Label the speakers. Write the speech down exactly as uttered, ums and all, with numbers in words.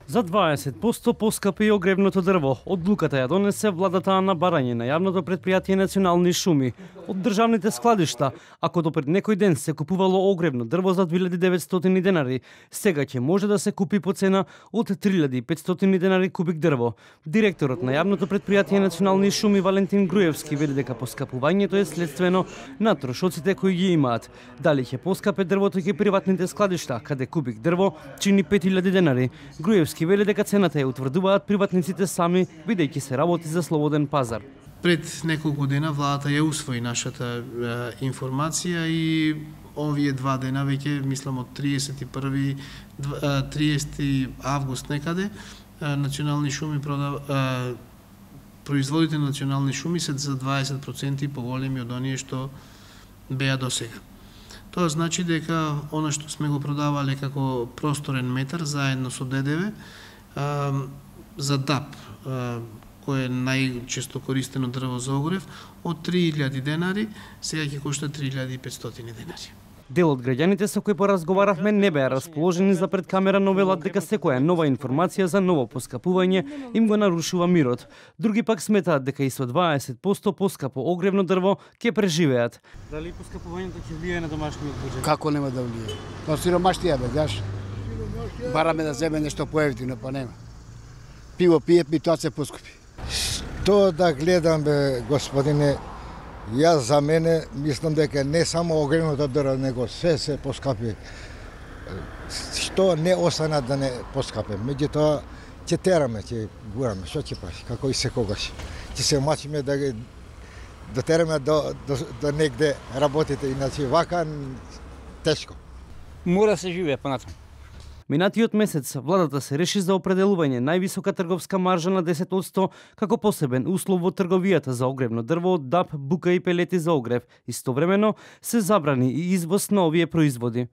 Speaker 1: За дваесет проценти поскапи и огревното дрво. Одлуката ја донесе владата на барање на јавното претпријатие Национални шуми од државните складишта. Ако допред некој ден се купувало огревно дрво за две илјади и деветстотини денари, сега ќе може да се купи по цена од три илјади и петстотини денари кубик дрво. Директорот на јавното претпријатие Национални шуми Валентин Груевски вели дека поскапувањето е следствено на трошоците кои ги имаат. Дали ќе поскапе дрвото ќе приватните складишта, каде кубик дрво чини пет илјади денари. Груевски вели дека цената ја утврдуваат приватниците сами, бидејќи се работи за слободен пазар.
Speaker 2: Пред неколку дена владата ја усвои нашата е, информација и овие два дена веќе, мислам од триесет и први триесети август некаде, Национални шуми продав, е, производите на Национални шуми се за дваесет проценти поголеми од оние што беа досега. Тоа значи дека она што сме го продавале како просторен метар заедно со ДДВ за ДАП, кој е најчесто користено дрво за огрев, од три илјади денари, сега ќе кошта три илјади и петстотини денари.
Speaker 1: Дел од граѓаните со кои поразговаравме не беа расположени за пред камера, но велат дека секоја нова информација за ново поскапување им го нарушува мирот. Други пак сметаат дека и со дваесет проценти поскапо огревно дрво ќе преживеат. Дали поскапувањето ќе влијае на домашниот буџет?
Speaker 3: Како нема да влијае? Па сиромаштија бе, знаеш. Бараме да земе нешто поевтино, па нема. Пиво пијат ми, тоа се поскупи.
Speaker 4: Што да гледам бе, господине, јас за мене мислам дека не само огревното дрво, него се се поскапи. Што не остана да не поскапи. Меѓутоа ќе тераме, ќе гураме, што ќе прави, како и секогаш. Ќе се мачиме да ги дотераме до, до, до негде работите, иначе вака тешко.
Speaker 3: Мора се живее понатаму.
Speaker 1: Минатиот месец владата се реши за определување највисока трговска маржа на десет проценти како посебен услов во трговијата за огревно дрво од ДАП, бука и пелети за огрев. Истовремено се забрани и извоз на овие производи.